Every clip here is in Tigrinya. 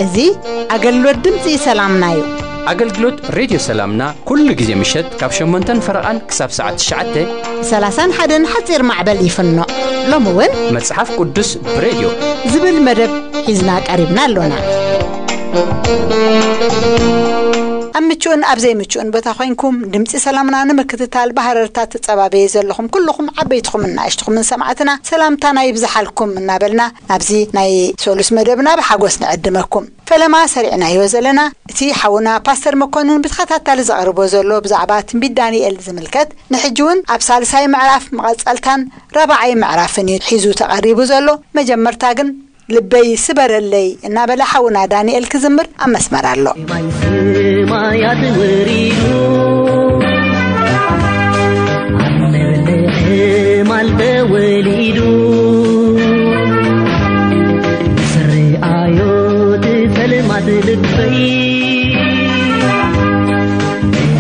እዚ ኣገልግሎት ድምፂ ሰላምና እዩ። ኣገልግሎት ሬድዮ ሰላምና ኩሉ ግዜ ምሸት ካብ ሸሞንተን ፈረቓን ክሳብ ሰዓት ትሽዓተ ሰላሳን ሓደን ሓፂር ማዕበል ይፍኖ። ሎሚ እውን መጽሓፍ ቅዱስ ብሬድዮ ዝብል መደብ ሒዝና ቀሪብና ኣሎና። ኣብ ምቹእን ኣብ ዘይምቹእን ቦታ ኮይንኩም ድምፂ ሰላምና ንምክትታል ብሃረርታ ትጸባበየ ዘለኹም ኩልኹም ዓበይትኹምን ንኣሽትኹምን ሰማዕትና ሰላምታና ይብዝሓልኩም እናበልና ናብዚ ናይ ሶሉስ መደብና ብሓጎስ ንዕድመኩም። ፈለማ ሰሪዕናዮ ዘለና እቲ ሓውና ፓስተር መኮንን ብተኸታታሊ ዘቕርቦ ዘሎ ብዛዕባ ትንቢት ዳንኤል ዝምልከት ንሕጂ እውን ኣብ ሳልሳይ ምዕራፍ መቐጸልታን ራብዓይ ምዕራፍን እዩ ሒዙ ተቐሪቡ ዘሎ። መጀመርታ ግን ልበይ ስበረለይ እናበለ ሓውና ዳንኤል ክዝምር ኣብ መስመር ኣሎ። ማይ ሰማያት ወሪዱ ኣብ መብልዕ ማል ተወሊዱ ስርኣዮ ትፈልማት ልበይ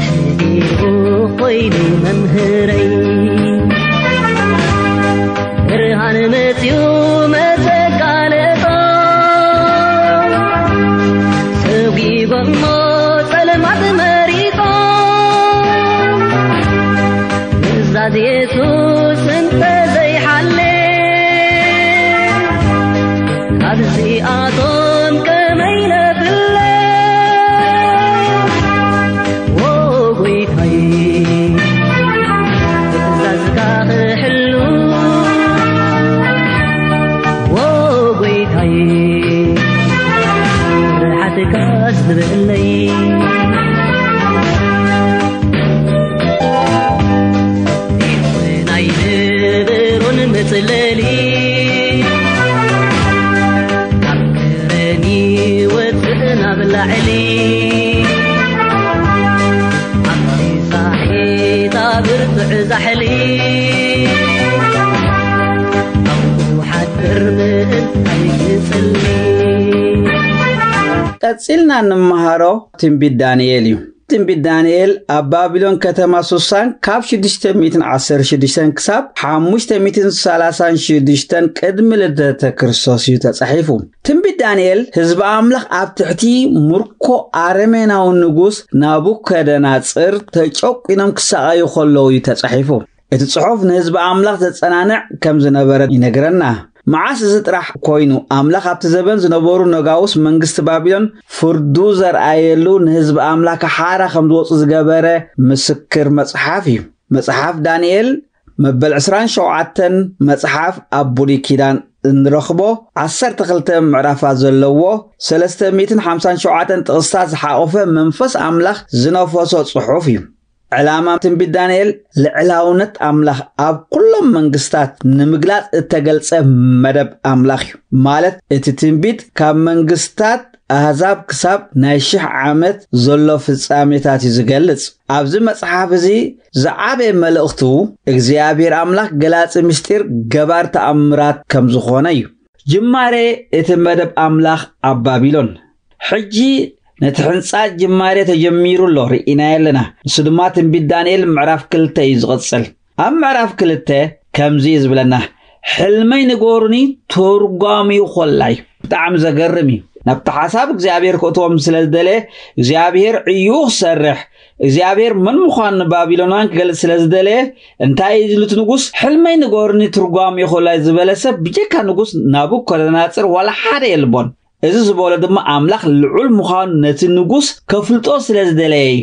ሕዲሩ ኮይኑ መምህረይ ብርሃን መፅዩ መተጋለጦ ሰጒጎሞ ጸልማት መሪጾ ምእዛዝ የሱስ እንተዘይሓለ ካብዚኣቶም ከመይ ነፍለ ዎ ጎይታይ ትእዛዝካ ክሕሉ ዎ ጎይታይ ርሓትካ ዝብለይ ናይ ንብሩን መጽለሊ ካብ ከረን ይወፅእ ናብ ላዕሊ ኣብቲ ሳሒታ ብርቱዕ ዛሕሊ ኣብኡ ሓድር ምእንታይ ክጽሊ ቀጺልና እንመሃሮ ትንቢት ዳንኤል እዩ። ትንቢት ዳንኤል ኣብ ባቢሎን ከተማ ሱሳን ካብ ሽዱሽተ ሚእትን ዓሰርተ ሽዱሽተን ክሳብ ሓሙሽተ ሚእትን ሰላሳን ሽዱሽተን ቅድሚ ልደተ ክርስቶስ እዩ ተጻሒፉ። ትንቢት ዳንኤል ህዝቢ ኣምላኽ ኣብ ትሕቲ ምርኮ ኣረሜናዊ ንጉስ ናቡከደናጽር ተጨቂኖም ክሳቐዩ ከለዉ እዩ ተጻሒፉ። እቲ ጽሑፍ ንህዝቢ ኣምላኽ ዘጸናንዕ ከም ዝነበረ ይነግረና። መዓስ እዚ ጥራሕ ኮይኑ ኣምላኽ ኣብቲ ዘበን ዝነበሩ ነጋውስ መንግስቲ ባቢሎን ፍርዱ ዘርኣየሉ ንህዝቢ ኣምላኽ ሓራ ከም ዝወፁ ዝገበረ ምስክር መጽሓፍ እዩ። መጽሓፍ ዳንኤል መበል ዕስራን ሸውዓተን መጽሓፍ ኣብ ብሉይ ኪዳን እንረኽቦ ዓሰርተ ክልተ ምዕራፋት ዘለዎ ሰለስተ ሚእትን ሓምሳን ሸውዓተን ጥቕስታት ዝሓቖፈ መንፈስ ኣምላኽ ዝነፈሶ ጽሑፍ እዩ። ዕላማ ትንቢት ዳንኤል ልዕላውነት ኣምላኽ ኣብ ኩሎም መንግስታት ንምግላጽ እተገልጸ መደብ ኣምላኽ እዩ። ማለት እቲ ትንቢት ካብ መንግስታት ኣህዛብ ክሳብ ናይ ሽሕ ዓመት ዘሎ ፍጻሜታት እዩ ዝገልጽ። ኣብዚ መጽሓፍ እዚ ዝዓበየ መልእኽቱ እግዚኣብሔር ኣምላኽ ገላጺ ምስጢር ገባር ተኣምራት ከም ዝኾነ እዩ። ጅማሬ እቲ መደብ ኣምላኽ ኣብ ባቢሎን። ሕጂ ነቲ ሕንጻ ጅማሬ ተጀሚሩ ኣሎ ርኢናዮ ኣለና። ንሱ ድማ ትንቢት ዳንኤል ምዕራፍ ክልተ እዩ ዝቕጽል። ኣብ ምዕራፍ ክልተ ከምዚ እዩ ዝብለና፣ ሕልመይ ንገሩኒ ተርጓሚኡ ኮላይ። ብጣዕሚ ዘገርም እዩ። ናብቲ ሓሳብ እግዚኣብሔር ክእትዎም ስለ ዝደለየ እግዚኣብሔር ዕዩ ክሰርሕ እግዚኣብሔር መን ምዃኑ ንባቢሎናን ክገልጽ ስለ ዝደለየ እንታይ እዩ ዝብሉት ንጉስ ሕልመይ ንገሩኒ ትርጓም ይኾላይ ዝበለ ሰብ ብጀካ ንጉስ ናቡኮደናጽር ዋላ ሓደ የልቦን። እዚ ዝበሎ ድማ ኣምላኽ ልዑል ምዃኑ ነቲ ንጉስ ከፍልጦ ስለ ዝደለየ እዩ።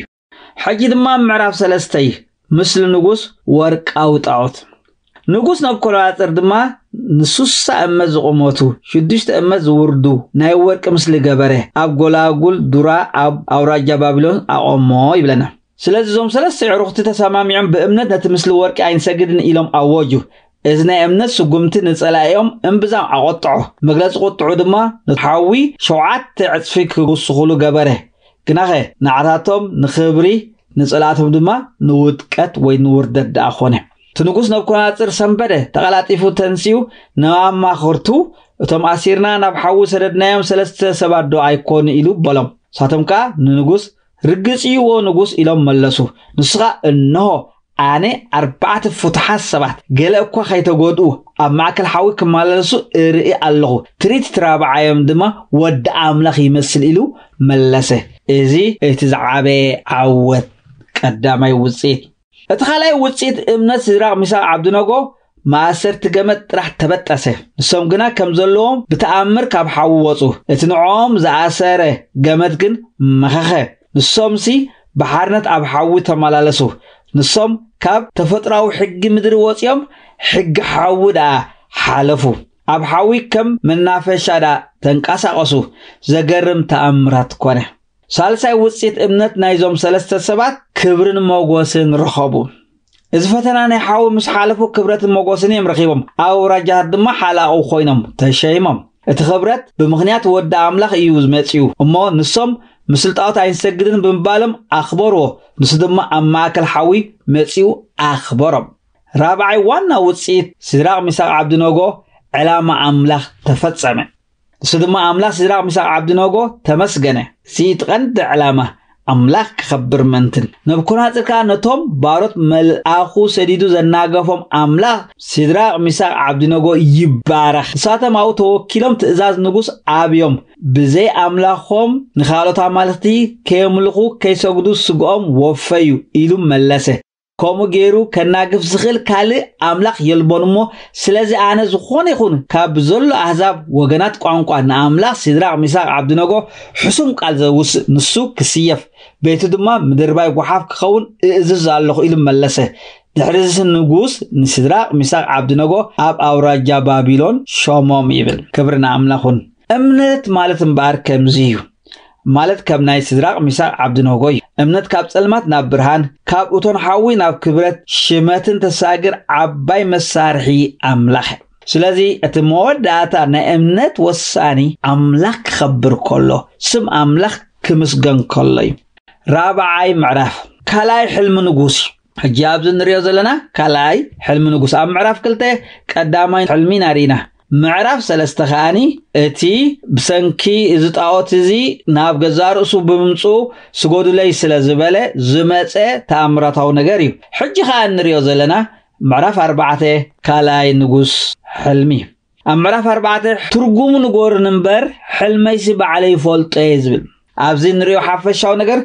ሕጂ ድማ ምዕራፍ ሰለስተይ ምስሊ ንጉስ ወርቃዊ ጣዖት። ንጉስ ናቡኮደነፃር ድማ ንሱሳ እመት ዝቑመቱ ሽዱሽተ እመት ዝውርዱ ናይ ወርቂ ምስሊ ገበረ፣ ኣብ ጎላጉል ዱራ ኣብ ኣውራጃ ባቢሎን ኣቖሞ ይብለና። ስለዚ እዞም ሰለስተ ኣዕሩኽቲ ተሰማሚዖም ብእምነት ነቲ ምስሊ ወርቂ ኣይንሰግድን ኢሎም ኣወጁ። እዚ ናይ እምነት ስጉምቲ ንጸላኢኦም እምብዛም ኣቖጥዖ። መግለጺ ቁጥዑ ድማ ንሓዊ ሸውዓተ ዕጽፊ ክውስኹሉ ገበረ። ግናኸ ንዓታቶም ንኽብሪ ንጸላእቶም ድማ ንውድቀት ወይ ንውርደት ደኣ ኾነ። እቲ ንጉስ ነብኮናጽር ሰንበደ፣ ተቐላጢፉ ተንሲኡ ናብ ኣማኸርቱ፣ "እቶም ኣሲርና ናብ ሓዊ ሰደድናዮም ሰለስተ ሰባት ዶ ኣይኮኑ?" ኢሉ በሎም። ንሳቶም ከኣ ንንጉስ፣ "ርግጽ እዩ፣ ዎ ንጉስ" ኢሎም መለሱ። ንሱ ኸኣ፣ "እንሆ፣ ኣነ ኣርባዕተ ፍቱሓት ሰባት፣ ገለ እኳ ከይተጎድኡ፣ ኣብ ማእከል ሓዊ ክመላለሱ እርኢ ኣለኹ። ትርኢት እቲ ራብዓዮም ድማ ወዲ ኣምላኽ ይመስል" ኢሉ መለሰ። እዚ እቲ ዝዓበየ ዓወት ቀዳማይ ውጽኢት። እቲ ካልኣይ ውጽኢት እምነት ሲድራቕ፣ ሚሳቕ፣ ዓብድነጎ፣ ማእሰርቲ ገመድ ጥራሕ ተበጠሰ። ንሶም ግና ከም ዘለዎም ብተኣምር ካብ ሓዊ ወጹ። እቲ ንዕኦም ዝኣሰረ ገመድ ግን መኸኸ። ንሶምሲ ብሓርነት ኣብ ሓዊ ተመላለሱ። ንሶም ካብ ተፈጥሮኣዊ ሕጊ ምድሪ ወጺኦም ሕጊ ሓዊ ደኣ ሓለፉ። ኣብ ሓዊ ከም መናፈሻ ደኣ ተንቀሳቐሱ። ዘገርም ተኣምራት ኮነ። ሳልሳይ ውጽኢት እምነት ናይዞም ሰለስተ ሰባት ክብርን ሞጎስን ረኸቡ። እዚ ፈተና ናይ ሓዊ ምስ ሓለፉ ክብረትን ሞጎስን እዮም ረኺቦም። ኣብ ኣውራጃታት ድማ ሓላቑ ኮይኖም ተሸይሞም። እቲ ክብረት ብምኽንያት ወዲ ኣምላኽ እዩ መጺኡ። እሞ ንሶም "ምስልጣዖት ኣይንሰግድን" ብምባሎም ኣኽበርዎ። ንሱ ድማ ኣብ ማእከል ሓዊ መጺኡ ኣኽበሮም። ራብዓይ ዋና ውጽኢት ሲድራቕ፣ ሚሳቕ፣ ዓብድነጎ ዕላማ ኣምላኽ ተፈጸመ። ንሱ ድማ ኣምላኽ ሲድራቕ፣ ሚሳቕ፣ ዓብድነጎ ተመስገነ። እዚ እቲ ቀንዲ ዕላማ ኣምላኽ ክኸብር መንትን። ነብኮናጽር ከኣ ነቶም ባሮት መልኣኹ ሰዲዱ ዘናገፎም ኣምላኽ ሲድራቕ፣ ሚሳቕ፣ ዓብድነጎ ይባረኽ። ንሳቶም ኣብኡ ተወኪሎም ትእዛዝ ንጉስ ኣብዮም። ብዘይ ኣምላኾም ንኻልኦት ኣማልኽቲ ከየምልኹ ከይሰግዱ ስግኦም ወፈዩ ኢሉ መለሰ። ከምኡ ገይሩ ከናግፍ ዝኽእል ካልእ ኣምላኽ የልቦን እሞ፣ ስለዚ ኣነ ዝኾነ ይኹን ካብ ዘሎ ኣህዛብ ወገናት ቋንቋ ንኣምላኽ ሲድራቕ፣ ሚሳቕ፣ ዓብድነጎ ሕሱም ቃል ዘውስእ ንሱ ክስየፍ፣ ቤቱ ድማ ምድርባይ ጓሓፍ ክኸውን እእዝዝ ኣለኹ ኢሉ መለሰ። ድሕሪ እዚ ንጉስ ንሲድራቕ፣ ሚሳቕ፣ ዓብድነጎ ኣብ ኣውራጃ ባቢሎን ሾሞም ይብል። ክብሪ ንኣምላኽ ይኹን። እምነት ማለት እምበኣር ከምዚ እዩ። ማለት ከም ናይ ሲድራቕ፣ ሚሳቕ፣ ዓብድነጎ እዩ። እምነት ካብ ጸልማት ናብ ብርሃን፣ ካብ እቶን ሓዊ ናብ ክብረት ሽመትን ተሳግር ዓባይ መሳርሒ ኣምላኽ እያ። ስለዚ እቲ መወዳእታ ናይ እምነት ወሳኒ ኣምላኽ ክኸብር ከሎ፣ ስም ኣምላኽ ክምስገን ከሎ እዩ። ራብዓይ ምዕራፍ፣ ካልኣይ ሕልሚ ንጉስ። ሕጂ ኣብዚ እንሪኦ ዘለና ካልኣይ ሕልሚ ንጉስ። ኣብ ምዕራፍ ክልተ ቀዳማይ ሕልሚ ኢና ርኢና። ምዕራፍ ሰለስተ ከኣኒ እቲ ብሰንኪ እዚ ጣዖት እዚ ናብ ገዛእ ርእሱ ብምምጽኡ ስገዱለይ ስለ ዝበለ ዝመጸ ተኣምራታዊ ነገር እዩ። ሕጂ ከኣ እንሪኦ ዘለና ምዕራፍ ኣርባዕተ ካልኣይ ንጉስ ሕልሚ። ኣብ ምዕራፍ ኣርባዕተ "ትርጉሙ ንገሩኒ እምበር ሕልመይሲ ባዕለይ ይፈልጦ እየ" ዝብል። ኣብዚ እንሪኦ ሓፈሻዊ ነገር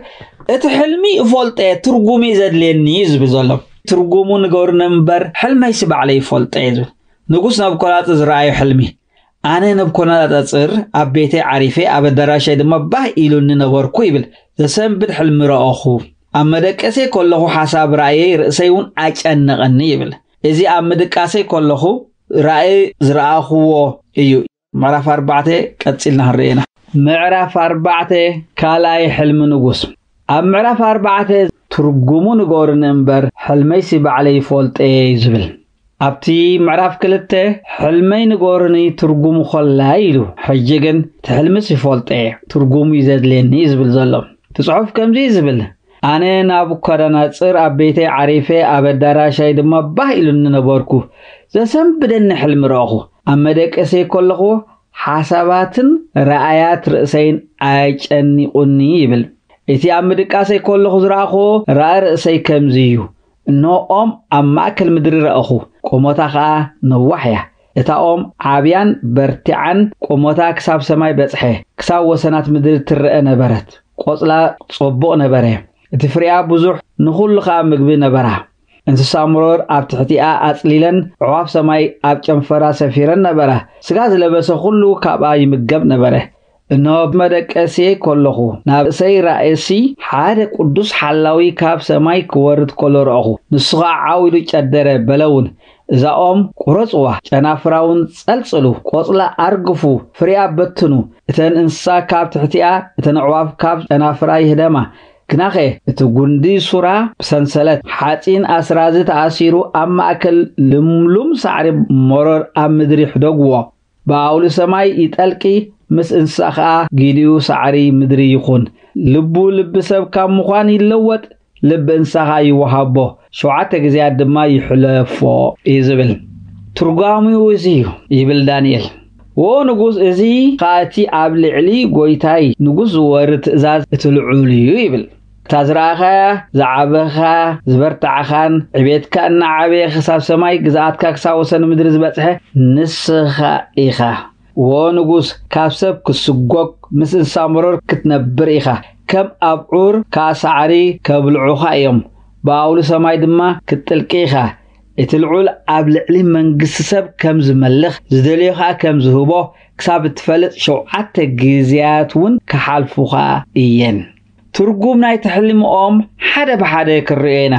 እቲ ሕልሚ እፈልጦ እየ፣ ትርጉሙ እዩ ዘድልየኒ እዩ ዝብል ዘሎ። "ትርጉሙ ንገሩኒ እምበር ሕልመይሲ ባዕለይ ይፈልጦ እየ" ዝብል። ንጉስ ናቡከደነፆር ዝረኣዮ ሕልሚ። "ኣነ ናቡከደነፆር ኣብ ቤተይ ዓሪፈ፣ ኣብ ኣዳራሸይ ድማ ባህ ኢሉኒ ነበርኩ" ይብል። "ዘሰንብድ ሕልሚ ረኣኹ። ኣብ መደቀሰይ ከለኹ ሓሳብ ራእየይ ርእሰይ እውን ኣጨነቐኒ" ይብል። "እዚ ኣብ ምድቃሰይ ከለኹ ራእይ ዝረኣኹዎ እዩ" ምዕራፍ ኣርባዕተ ቀጺልና ክንርኢ ኢና። ምዕራፍ ኣርባዕተ ካልኣይ ሕልሚ ንጉስ። ኣብ ምዕራፍ ኣርባዕተ "ትርጉሙ ንገሩኒ እምበር፣ ሕልመይሲ ባዕለይ ይፈልጦ እየ" እዩ ዝብል። ኣብቲ ምዕራፍ ክልተ "ሕልመይ ንገሩኒ ትርጉሙ ኮላይ" ኢሉ፣ ሕጂ ግን "እቲ ሕልምስ ይፈልጦ እየ፣ ትርጉሙ እዩ ዘድልየኒ" እዩ ዝብል ዘሎ። እቲ ጽሑፍ ከምዚ እዩ ዝብል፣ "ኣነ ናቡከደነጽር ኣብ ቤተይ ዓሪፈ፣ ኣብ ኣዳራሻይ ድማ ባህ ኢሉኒ ነበርኩ። ዘሰንብደኒ ሕልሚ ረእኹ። ኣብ መደቀሰይ ከለኹ ሓሳባትን ረኣያት ርእሰይን ኣጨኒቑኒ" ይብል። "እቲ ኣብ ምድቃሰይ ከለኹ ዝረኣኹዎ ራእይ ርእሰይ ከምዚ እዩ። እንሆ ኦም ኣብ ማእከል ምድሪ ረእኹ፣ ቁመታ ኸኣ ነዋሕ እያ። እታ ኦም ዓብያን በርቲዓን ቁመታ ክሳብ ሰማይ በጽሐ፣ ክሳብ ወሰናት ምድሪ ትረአ ነበረት። ቆጽላ ጽቡቕ ነበረ፣ እቲ ፍሬኣ ብዙሕ፣ ንኹሉ ኸኣ ምግቢ ነበራ። እንስሳ መሮር ኣብ ትሕቲኣ ኣጽሊለን፣ ኣዕዋፍ ሰማይ ኣብ ጨንፈራ ሰፊረን ነበራ። ስጋ ዝለበሰ ኩሉ ካብኣ ይምገብ ነበረ። እንሆ፣ ብመደቀስየይ ከለኹ፣ ናብ ርእሰይ ራእሲ ሓደ ቅዱስ ሓላዊ ካብ ሰማይ ክወርድ ከሎ ረእኹ። ንሱ ኸኣ ዓው ኢሉ ጨደረ፣ በለ እውን፣ እዛ ኦም ቁረጽዋ፣ ጨናፍራ እውን ጸልጽሉ፣ ቆጽላ ኣርግፉ፣ ፍሬኣ በትኑ። እተን እንስሳ ካብ ትሕቲኣ፣ እተን ኣዕዋፍ ካብ ጨናፍራ ይህደማ። ግናኸ እቲ ጉንዲ ሱራ ብሰንሰለት ሓጺን ኣስራዚ ተኣሲሩ ኣብ ማእከል ልምሉም ሳዕሪ መሮር ኣብ ምድሪ ሕደግዎ። ብኣውሊ ሰማይ ይጠልቂ፣ ምስ እንስሳ ኸኣ ጊሊኡ ሳዕሪ ምድሪ ይኹን። ልቡ ልቢ ሰብ ካብ ምዃን ይለወጥ፣ ልቢ እንስሳ ኸኣ ይወሃቦ። ሸውዓተ ግዜያት ድማ ይሕለፎ እዩ ዝብል። ትርጓሚኡ እዚ እዩ ይብል ዳንኤል። ወ ንጉስ፣ እዚ ኸኣ እቲ ኣብ ልዕሊ ጐይታይ ንጉስ ዝወርድ ትእዛዝ እቲ ልዑል እዩ ይብል። እታ ዝረኣኻያ፣ ዝዓበኻ፣ ዝበርታዕኻን ዕቤትካ እናዓበየ ክሳብ ሰማይ፣ ግዝኣትካ ክሳብ ወሰን ምድሪ ዝበጽሐ ንስኻ ኢኻ። ወ ንጉስ፣ ካብ ሰብ ክስጎግ ምስ እንስሳ መሮር ክትነብር ኢኻ። ከም ኣብዑር ከኣ ሳዕሪ ከብልዑኻ እዮም። ብኣውሊ ሰማይ ድማ ክትጥልቂ ኢኻ። እቲ ልዑል ኣብ ልዕሊ መንግስቲ ሰብ ከም ዝመልኽ፣ ዝደልዮ ኸኣ ከም ዝህቦ ክሳብ እትፈልጥ ሸውዓተ ግዜያት እውን ክሓልፉኻ እየን። ትርጉም ናይቲ ሕልሚ ኦም ሓደ ብሓደ ክንርእዮ ኢና።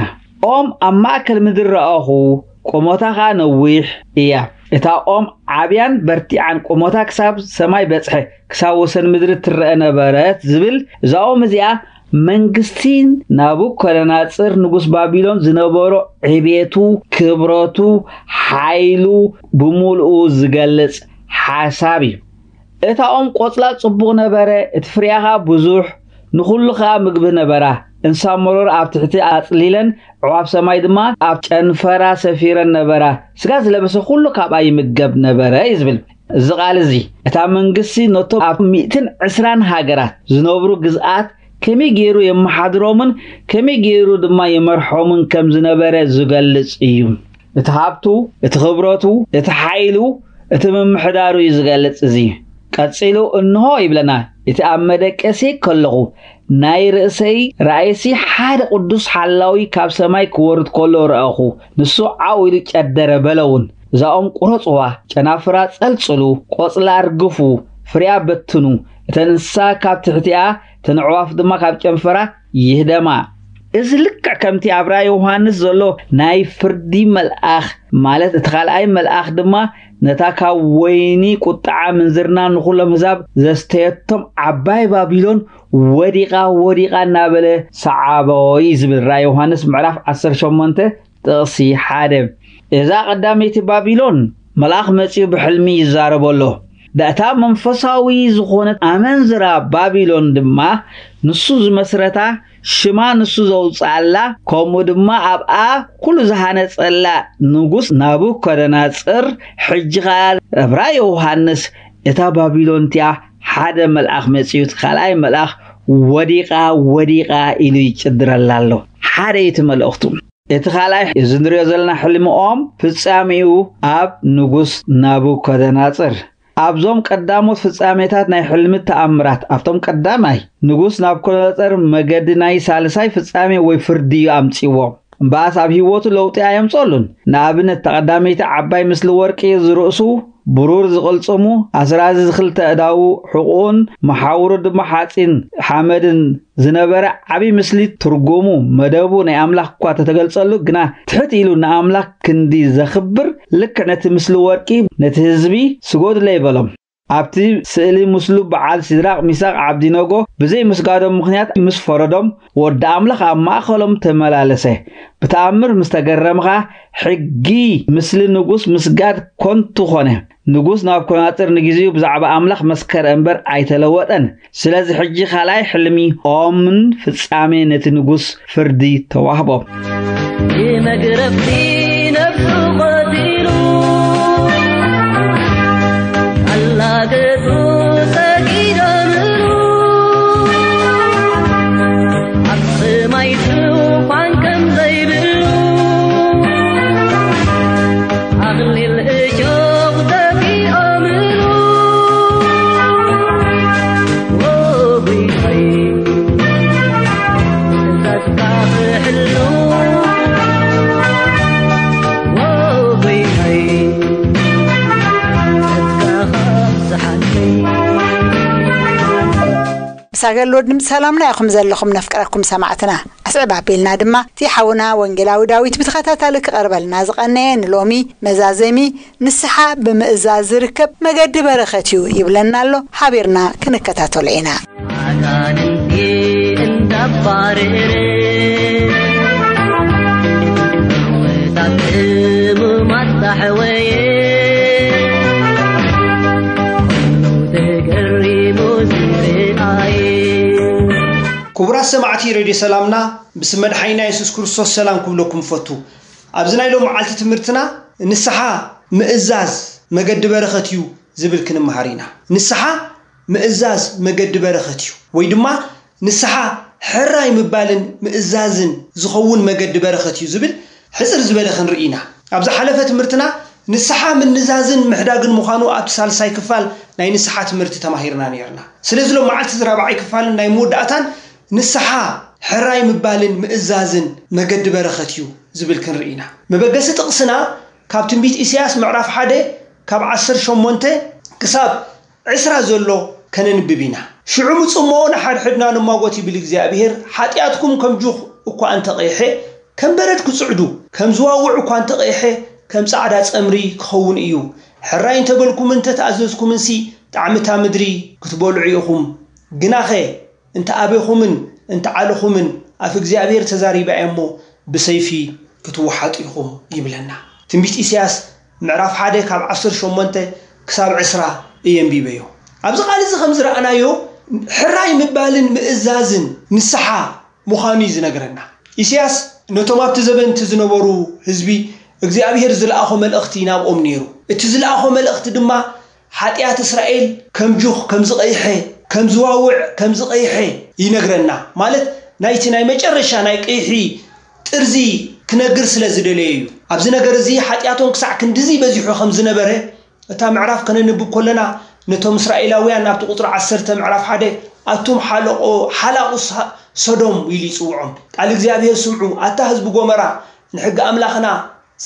ኦም ኣብ ማእከል ምድሪ ረኣኹ፣ ቁመታ ኸኣ ነዊሕ እያ። እታ ኦም ዓብያን በርቲዓን ቁመታ ክሳብ ሰማይ በጽሐ፣ ክሳብ ወሰን ምድሪ ትረአ ነበረት ዝብል፣ እዛ ኦም እዚኣ መንግስቲ ናቡከደነጽር ንጉስ ባቢሎን ዝነበሮ ዕቤቱ፣ ክብረቱ፣ ሓይሉ ብምሉኡ ዝገልጽ ሓሳብ እዩ። እታ ኦም ቆጽላ ጽቡቕ ነበረ፣ እቲ ፍሪኣ ኸኣ ብዙሕ፣ ንኹሉ ኸኣ ምግቢ ነበራ። እንስሳ መሮር ኣብ ትሕቲ ኣጽሊለን፣ ኣዕዋፍ ሰማይ ድማ ኣብ ጨንፈራ ሰፊረን ነበራ። ስጋ ዝለበሰ ኩሉ ካብኣ ይምገብ ነበረ እዩ ዝብል። እዚ ቃል እዚ፣ እታ መንግስቲ ነቶም ኣብ ሚእትን ዕስራን ሃገራት ዝነብሩ ግዝኣት ከመይ ገይሩ የመሓድሮምን ከመይ ገይሩ ድማ የመርሖምን ከም ዝነበረ ዝገልጽ እዩ። እቲ ሃብቱ፣ እቲ ክብረቱ፣ እቲ ሓይሉ፣ እቲ ምምሕዳሩ እዩ ዝገልጽ እዚ። ቀጺሉ እንሆ ይብለና፣ እቲ ኣብ መደቀሲ ከለኹ ናይ ርእሰይ ራእይሲ ሓደ ቅዱስ ሓላዊ ካብ ሰማይ ክወርድ ከሎ ረኣኹ። ንሱ ዓው ኢሉ ጨደረ፣ በለ እውን፣ እዛ ኦም ቁረጽዋ፣ ጨናፍራ ጸልጽሉ፣ ቆጽላ ኣርግፉ፣ ፍሬኣ በትኑ፣ እተን እንስሳ ካብ ትሕቲኣ፣ እተን ኣዕዋፍ ድማ ካብ ጨንፈራ ይህደማ። እዚ ልክዕ ከምቲ ኣብ ራእይ ዮሃንስ ዘሎ ናይ ፍርዲ መልኣኽ፣ ማለት እቲ ካልኣይ መልኣኽ ድማ ነታ ካብ ወይኒ ቁጥዓ ምንዝርና ንኹሎም ህዛብ ዘስተየቶም ዓባይ ባቢሎን ወዲቓ፣ ወዲቓ እናበለ ሰዓቦ እዩ ዝብል ራእይ ዮሃንስ ምዕራፍ ዓሰርተ ሸሞንተ ጥቕሲ ሓደ። እዛ ቀዳመይቲ ባቢሎን መልኣኽ መጺኡ ብሕልሚ ይዛረቦ ኣሎ። እታ መንፈሳዊ ዝኾነት ኣመንዝራ ባቢሎን ድማ ንሱ ዝመስረታ፣ ሽማ ንሱ ዘውጽኣላ፣ ከምኡ ድማ ኣብኣ ኩሉ ዝሃነጸላ ንጉስ ናቡከደነጽር፣ ሕጂ ኸኣ ኣብ ራእይ ዮሃንስ እታ ባቢሎን እቲኣ ሓደ መልኣኽ መጺኡ፣ እቲ ካልኣይ መልኣኽ ወዲቓ፣ ወዲቓ ኢሉ ይጭድረላ ኣሎ። ሓደ እዩ እቲ መልእኽቱ። እቲ ካልኣይ፣ እዚ ንሪኦ ዘለና ሕልሚ ኦም ፍጻሜኡ ኣብ ንጉስ ናቡከደነጽር። ኣብዞም ቀዳሞት ፍጻሜታት ናይ ሕልሚ ተኣምራት፣ ኣብቶም ቀዳማይ ንጉስ ናቡከደነጸር መገዲ ናይ ሳልሳይ ፍጻሜ ወይ ፍርዲ እዩ ኣምጺዎ። እምበኣስ ኣብ ህይወቱ ለውጢ ኣየምጸሉን። ንኣብነት፣ እታ ቀዳመይቲ ዓባይ ምስሊ ወርቂ ዝርእሱ ብሩር ዝቕልጽሙ፣ ኣስራዚ ዝኽልተ ኣእዳዉ፣ ሕቑኡን መሓውሩ ድማ ሓጺን ሓመድን ዝነበረ ዓቢ ምስሊ ትርጉሙ፣ መደቡ ናይ ኣምላኽ እኳ ተተገልጸሉ፣ ግና ትሕት ኢሉ ንኣምላኽ ክንዲ ዘኽብር፣ ልክዕ ነቲ ምስሊ ወርቂ ነቲ ህዝቢ፣ "ስገዱለይ" በሎም። ኣብቲ ስእሊ ምስሉ በዓል ሲድራቕ፣ ሚሳቕ፣ ዓብዲነጎ ብዘይ ምስጋዶም ምኽንያት ምስ ፈረዶም፣ ወዲ ኣምላኽ ኣብ ማእከሎም ተመላለሰ። ብተኣምር ምስ ተገረምኻ፣ ሕጊ ምስሊ ንጉስ ምስጋድ ኮንቱ ኾነ። ንጉስ ናቡከደነጽር ንግዜኡ ብዛዕባ ኣምላኽ መስከረ እምበር ኣይተለወጠን። ስለዚ ሕጂ ካልኣይ ሕልሚ ኦምን ፍጻሜ ነቲ ንጉስ ፍርዲ ተዋህቦ። ብመግረፍቲ ነፍሱ ቀቲሉ፣ ኣላገጹ ሰጊዶምሉ፣ ኣብ ሰማይ ድኳን ከም ዘይብሉ፣ ኣኽሊል እሾኽ ደፊኦምሉ። ሳገል ወድም ሰላምና ኢኹም ዘለኹም ነፍቅረኩም ሰማዕትና። ኣስዕብ ኣቢልና ድማ እቲ ሓውና ወንጌላዊ ዳዊት ብተኸታታሊ ክቐርበልና ዝቐነየ ንሎሚ መዛዘሚ ንስሓ ብምእዛዝ ዝርከብ መገዲ በረኸት እዩ ይብለና ኣሎ። ሓቢርና ክንከታተሎ ኢና። ኣጋንንቲ እንዳባረረ፣ እምወታት ሕሙማት ዳሕወየ፣ ኩሉ ተገሪሙ ዝረኣየ። ክቡራት ሰማዕቲ ሬድዮ ሰላምና፣ ብስም መድሓኒና የሱስ ክርስቶስ ሰላም ክብለኩም ፈቱ። ኣብዚ ናይ ሎም መዓልቲ ትምህርትና ንስሓ ምእዛዝ መገዲ በረኸት እዩ ዝብል ክንመሃር ኢና። ንስሓ ምእዛዝ መገዲ በረኸት እዩ፣ ወይ ድማ ንስሓ ሕራይ ምባልን ምእዛዝን ዝኸውን መገዲ በረኸት እዩ ዝብል ሕፅር ዝበለ ክንርኢ ኢና። ኣብ ዝሓለፈ ትምህርትና ንስሓ ምንዛዝን ምሕዳግን ምዃኑ ኣብቲ ሳልሳይ ክፋል ናይ ንስሓ ትምህርቲ ተማሂርና ነርና። ስለዚ ሎም መዓልቲ እዚ ራብዓይ ክፋልን ናይ መወዳእታን ንስሓ ሕራይ ምባልን ምእዛዝን መገዲ በረኸት እዩ ዝብል ክንርኢ ኢና። መበገሲ ጥቕስና ካብ ትንቢት ኢሳያስ ምዕራፍ ሓደ ካብ ዓሰርተ ሸሞንተ ክሳብ ዕስራ ዘሎ ከነንብብ ኢና። ሽዑ ምጽሞ ንሓድሕድና ንማጎት ይብል እግዚኣብሔር፣ ሓጢኣትኩም ከም ጁኽ እኳ እንተቐይሐ ከም በረድ ክጽዕዱ፣ ከም ዝዋውዕ እኳ እንተቐይሐ ከም ጻዕዳ ጸምሪ ክኸውን እዩ። ሕራይ እንተበልኩምን እንተተኣዘዝኩምንሲ ጣዕሚ እታ ምድሪ ክትበልዑ ኢኹም። ግናኸ እንተ ኣበኹምን እንተ ዓለኹምን ኣፍ እግዚኣብሔር ተዛሪባ እያ እሞ ብሰይፊ ክትወሓጡ ኢኹም ይብለና። ትንቢት ኢሳያስ ምዕራፍ ሓደ ካብ ዓሰርተ ሸሞንተ ክሳብ ዕስራ እየ ኣንቢበዮ። ኣብዚ ቃል እዚ ከም ዝረኣናዮ ሕራይ ምባልን ምእዛዝን ንስሓ ምዃኑ እዩ ዝነግረና። ኢሳያስ ነቶም ኣብቲ ዘበን እቲ ዝነበሩ ህዝቢ እግዚኣብሔር ዝለኣኾ መልእኽቲ ናብኦም ነይሩ። እቲ ዝለኣኾ መልእኽቲ ድማ ሓጢኣት እስራኤል ከም ጁኽ ከም ዝቐይሐ፣ ከም ዝዋውዕ ከም ዝቐይሐ ይነግረና። ማለት ናይቲ ናይ መጨረሻ ናይ ቀይሒ ጥርዚ ክነግር ስለ ዝደለየ እዩ። ኣብዚ ነገር እዚ ሓጢኣቶም ክሳዕ ክንድዚ በዚሑ ከም ዝነበረ እታ ምዕራፍ ከነንብብ ከለና ነቶም እስራኤላውያን ኣብቲ ቁጽሪ ዓሰርተ ምዕራፍ ሓደ ኣቱም ሓለቆ ሓላቑ ሳ- ሶዶም ኢሉ ይጽውዖም። ቃል እግዚኣብሔር ስምዑ፣ ኣታ ህዝቢ ጎመራ ንሕጊ ኣምላኽና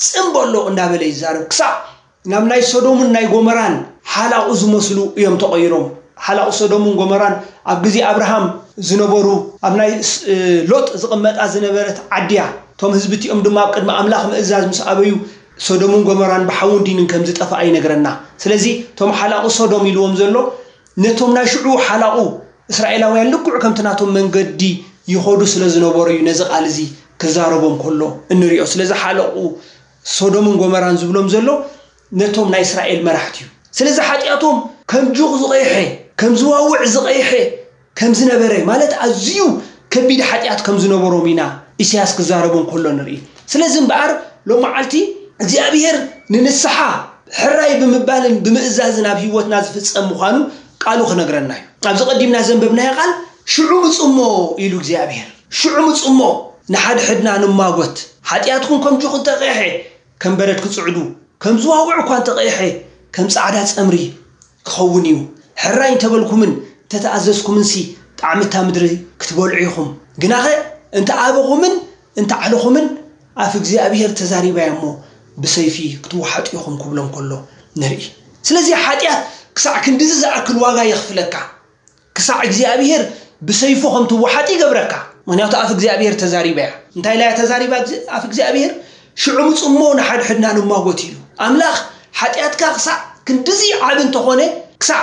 ጽን በሎ እንዳበለ ይዛረብ። ክሳዕ ናብ ናይ ሶዶምን ናይ ጎመራን ሓላቑ ዝመስሉ እዮም ተቐይሮም። ሓላቑ ሶዶምን ጎመራን ኣብ ግዜ ኣብርሃም ዝነበሩ ኣብ ናይ ስ- ሎጥ ዝቕመጣ ዝነበረት ዓድያ። እቶም ህዝቢ እቲኦም ድማ ኣብ ቅድሚ ኣምላኽ ምእዛዝ ምስ ኣበዩ ሶዶምን ጎመራን ብሓውን ዲንን ከም ዝጠፍኣ ይነግረና። ስለዚ እቶም ሓላቑ ሶዶም ኢልዎም ዘሎ ነቶም ናይ ሽዑ ሓላቑ እስራኤላውያን ልክዑ ከምቲ ናቶም መንገዲ ይኸዱ ስለ ዝነበሩ እዩ ነዚ ቃል እዚ ክዛረቦም ከሎ እንሪኦ። ስለዚ ሓለቑ ሶዶምን ጎመራን ዝብሎም ዘሎ ነቶም ናይ እስራኤል መራሕቲ እዩ። ስለዚ ሓጢኣቶም ከም ጁኽ ዝቐይሐ፣ ከም ዝዋውዕ ዝቐይሐ ከም ዝነበረ፣ ማለት ኣዝዩ ከቢድ ሓጢኣት ከም ዝነበሮም ኢና ኢሳያስ ክዛረቦም ከሎ ንርኢ። ስለዚ እምበኣር ሎም መዓልቲ እግዚኣብሔር ንንስሓ ሕራይ ብምባልን ብምእዛዝን ኣብ ህይወትና ዝፍጸም ምዃኑ ቃሉ ክነግረና እዩ። ኣብዚ ቀዲምና ዘንበብናዮ ቃል ሽዑ ምጽሞ ኢሉ እግዚኣብሔር። ሽዑ ምጽሞ ንሓድሕድና ንማጎት። ሓጢኣትኩም ከም ጁኽ እንተቐይሐ ከም በረድ ክጽዕዱ፣ ከም ዝዋውዕ እኳ እንተቐይሐ ከም ጻዕዳ ጸምሪ ክኸውን እዩ። ሕራይ እንተበልኩምን እንተተኣዘዝኩምንሲ ጣዕሚ እታ ምድሪ ክትበልዑ ኢኹም። ግናኸ እንተ ኣበኹምን እንተ ዓለኹምን ኣፍ እግዚኣብሔር ተዛሪባ እያ እሞ ብሰይፊ ክትወሓጡ ኢኹም ክብሎም ከሎ ንርኢ። ስለዚ ሓጢኣት ክሳዕ ክንድዚ ዝኣክል ዋጋ የኽፍለካ። ክሳዕ እግዚኣብሔር ብሰይፉ ከም ትወሓጥ ይገብረካ። ምክንያቱ ኣፍ እግዚኣብሔር ተዛሪባ እያ። እንታይ ኢላ እያ ተዛሪባ ኣፍ እግዚኣብሔር? ሽዑ ምጽሞ ንሓድሕድና ንማጎት ኢሉ። ኣምላኽ ሓጢኣትካ ክሳዕ ክንድዚ ዓቢ እንተኾነ፣ ክሳዕ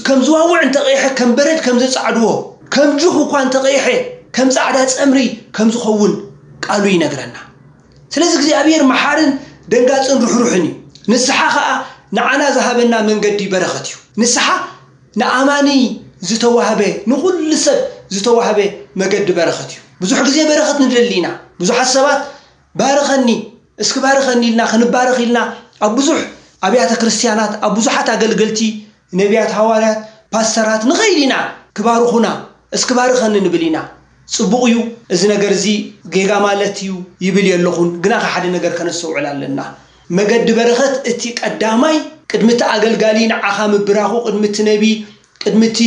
ከም ዝዋውዕ እንተቐይሐ፣ ከም በረድ ከም ዘጻዕድዎ፣ ከም ጁኽ እኳ እንተቐይሐ፣ ከም ጻዕዳ ጸምሪ ከም ዝኸውን ቃሉ ይነግረና። ስለዚ እግዚኣብሔር መሓርን ደንጋጽን ርሕሩሕን እዩ። ንስሓ ኸኣ ንዓና ዝሃበና መንገዲ በረኸት እዩ። ንስሓ ንኣማኒ ዝተዋህበ፣ ንኹሉ ሰብ ዝተዋህበ መገዲ በረኸት እዩ። ብዙሕ ግዜ በረኸት ንደሊ ኢና። ብዙሓት ሰባት ባርኸኒ፣ እስኪ ባርኸኒ ኢልና ክንባረኽ ኢልና ኣብ ብዙሕ ኣብያተ ክርስቲያናት፣ ኣብ ብዙሓት ኣገልገልቲ፣ ነቢያት፣ ሃዋርያት፣ ፓስተራት ንኸይድ ኢና። ክባርኹና፣ እስኪ ባርኸኒ ንብል ኢና። ጽቡቕ እዩ፣ እዚ ነገር እዚ ጌጋ ማለት እዩ ይብል የለኹን። ግና ሓደ ነገር ከነስተውዕል ኣለና። መገዲ በረኸት እቲ ቀዳማይ ቅድሚ እቲ ኣገልጋሊ ንዓኻ ምብራኹ፣ ቅድሚ እቲ ነቢ፣ ቅድሚ እቲ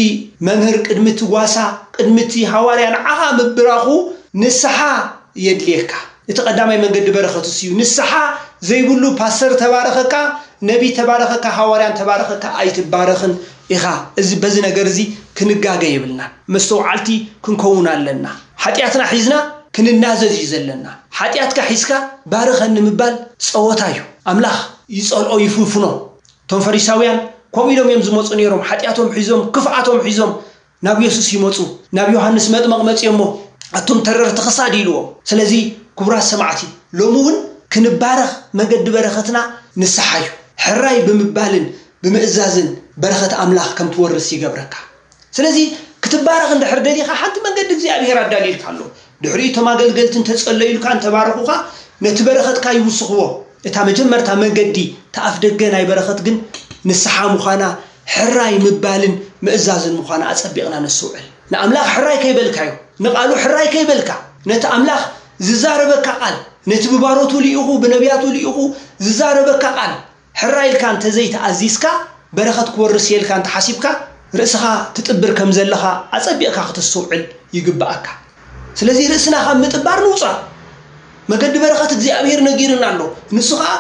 መምህር፣ ቅድሚ እቲ ጓሳ፣ ቅድሚ እቲ ሃዋርያ ንዓኻ ምብራኹ ንስሓ የድልየካ። እቲ ቀዳማይ መንገዲ በረኸት እሱ እዩ። ንስሓ ዘይብሉ ፓስተር ተባረኸካ፣ ነቢ ተባረኸካ፣ ሃዋርያን ተባረኸካ ኣይትባረኽን ኢኻ። እዚ በዚ ነገር እዚ ክንጋገ የብልናን። መስተውዓልቲ ክንከውን ኣለና። ሓጢኣትና ሒዝና ክንናዘዝ እዩ ዘለና። ሓጢኣትካ ሒዝካ ባርኸኒ ምባል ጸወታ እዩ። ኣምላኽ ይጸልኦ ይፍንፍኖ። እቶም ፈሪሳውያን ከምኡ ኢሎም እዮም ዝመጹ ነይሮም። ሓጢኣቶም ሒዞም፣ ክፍኣቶም ሒዞም ናብ የሱስ ይመጹ። ናብ ዮሃንስ መጥመቕ መጺኦሞ ኣቱም ተረርቲ ክሳድ ኢልዎም። ስለዚ ክቡራት ሰማዕቲ፣ ሎሚ እውን ክንባረኽ መገዲ በረኸትና ንስሓ እዩ። ሕራይ ብምባልን ብምእዛዝን በረኸት ኣምላኽ ከም ትወርስ ይገብረካ። ስለዚ ክትባረኽ እንድሕር ደሊኻ ሓንቲ መንገዲ እግዚኣብሔር ኣዳልዩልካ ኣሎ። ድሕሪኡ እቶም ኣገልገልቲ እንተጸለዩልካ፣ እንተባረኹኻ፣ ነቲ በረኸትካ ይውስኽዎ። እታ መጀመርታ መገዲ፣ እታ ኣፍ ደገ ናይ በረኸት ግን ንስሓ ምዃና፣ ሕራይ ምባልን ምእዛዝን ምዃና ኣጸቢቕና ነስተውዕል። ንኣምላኽ ሕራይ ከይበልካዮ፣ ንቓሉ ሕራይ ከይበልካ፣ ነቲ ኣምላኽ ዝዛረበካ ቃል፣ ነቲ ብባሮቱ ልኢኹ፣ ብነቢያቱ ልኢኹ ዝዛረበካ ቃል፣ ሕራይ ኢልካ እንተዘይተኣዚዝካ፣ በረኸት ክወርስ እየ ኢልካ እንተሓሲብካ፣ ርእስኻ ትጥብር ከም ዘለኻ ኣጸቢቕካ ክተስተውዕል ይግብኣካ። ስለዚ ርእስና ካብ ምጥባር ንውጻእ። መገዲ በረኸት እግዚኣብሔር ነጊርና ኣሎ። ንሱ ኸኣ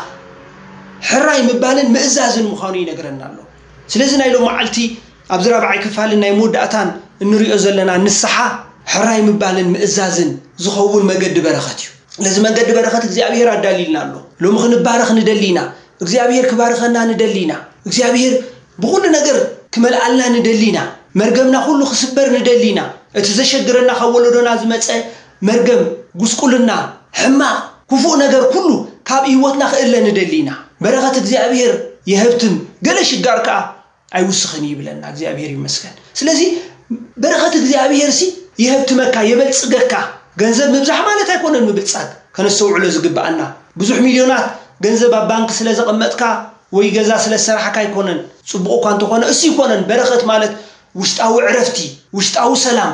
ሕራይ ምባልን ምእዛዝን ምዃኑ ይነግረና ኣሎ። ስለዚ ናይ ሎም መዓልቲ ኣብዚ ራብዓይ ክፋልን ናይ መወዳእታን እንሪኦ ዘለና ንስሓ፣ ሕራይ ምባልን ምእዛዝን ዝኸውን መገዲ በረኸት እዩ። ነዚ መገዲ በረኸት እግዚኣብሔር ኣዳልዩልና ኣሎ። ሎሚ ክንባረኽ ንደሊ ኢና። እግዚኣብሔር ክባርኸና ንደሊ ኢና። እግዚኣብሔር ብኹሉ ነገር ክመልኣልና ንደሊ ኢና። መርገምና ኩሉ ክስበር ንደሊ ኢና። እቲ ዘሸግረና ካብ ወለዶና ዝመጸ መርገም፣ ጉስቁልና፣ ሕማቕ፣ ክፉእ ነገር ኩሉ ካብ ህይወትና ክእለ ንደሊ ኢና። በረኸት እግዚኣብሔር የሀብትም፣ ገለ ሽጋር ከኣ ኣይውስኽን እዩ ይብለና። እግዚኣብሔር ይመስገን። ስለዚ በረኸት እግዚኣብሔር ሲ የሀብትመካ፣ የበልጽገካ። ገንዘብ ምብዛሕ ማለት ኣይኮነን ምብልጻግ፣ ከነስተውዕሎ ዝግብኣና። ብዙሕ ሚልዮናት ገንዘብ ኣብ ባንክ ስለ ዘቐመጥካ ወይ ገዛ ስለ ዝሰራሕካ ኣይኮነን። ጽቡቕ እኳ እንተኾነ፣ እሱ ይኮነን። በረኸት ማለት ውሽጣዊ ዕረፍቲ፣ ውሽጣዊ ሰላም፣